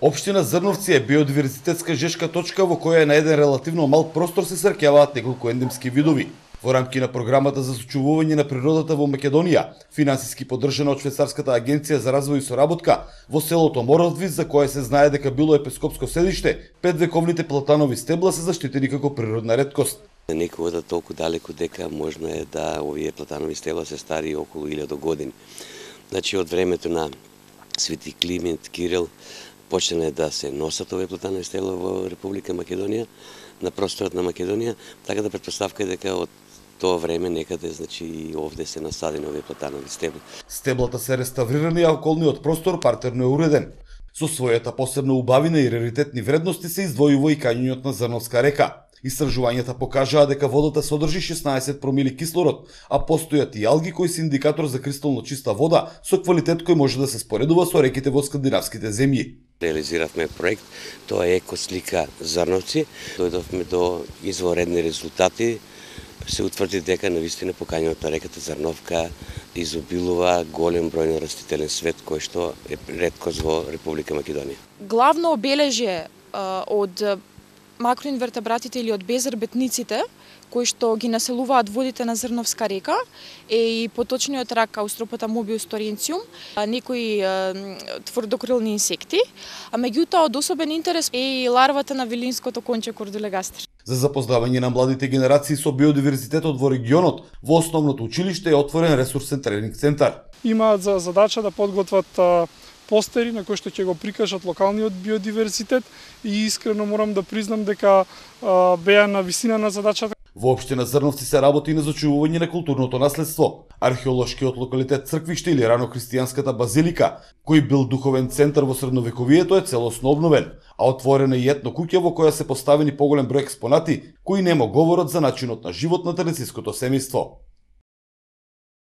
Општина Зрновци е биодиверзитетска жешка точка во која на еден релативно мал простор се срќаваат неколку ендемски видови. Во рамки на програмата за сочувување на природата во Македонија, финансиски поддржана од Швајцарската агенција за развој и соработка, во селото Моравдвис, за кое се знае дека било епископско седиште, 5 вековните платанови стебла се заштитени како природна реткост. Некој ода толку далеку дека можно е да овие платанови стебла се стари околу 1000 години. Значи од времето на Свети Климент Кирил почна да се носат овие платанови стебла во Република Македонија, на просторот на Македонија, така да претпоставка е дека од тоа време некаде, значи и овде се насадени овие платанови стебла. Стеблата се реставрирани, а околниот простор партерно е уреден. Со својата посебна убавина и раритетни вредности се издвојува и кањењот на Зрновска река. Истражувањата покажаа дека водата содржи 16 промили кислород, а постојат и алги кои се индикатор за кристално чиста вода со квалитет кој може да се споредува со реките во скандинавските земји. Реализиравме проект, тоа е екослика Зрновци. Дојдовме до изворедни резултати. Се утврди дека навистина по кањењето на реката Зрновка изобилува голем број на растителен свет кој што е реткост во Република Македонија. Главно обележје од макроинвертебратите или од безрбетниците кои што ги населуваат водите на Зрновска река е и поточниот рак Аустропотамобиус торенциум, некои тврдокрилни инсекти, а меѓутоа од особен интерес е и ларвата на вилинското конче Кордулегастер. За запознавање на младите генерации со биодиверзитетот во регионот, во основното училиште е отворен ресурсен тренинг центар. Имаат за задача да подготват постери на кои што ќе го прикажат локалниот биодиверзитет и искрено морам да признам дека беа на висина на задачата. Во општина Зрновци се работи и на зачувување на културното наследство. Археолошкиот локалитет Црквиште или рано-христијанската базилика, кој бил духовен центар во средновековието, е целосно обновен, а отворена и етно куќа во која се поставени поголем број експонати кои нема говорат за начинот на живот на традицијското семејство.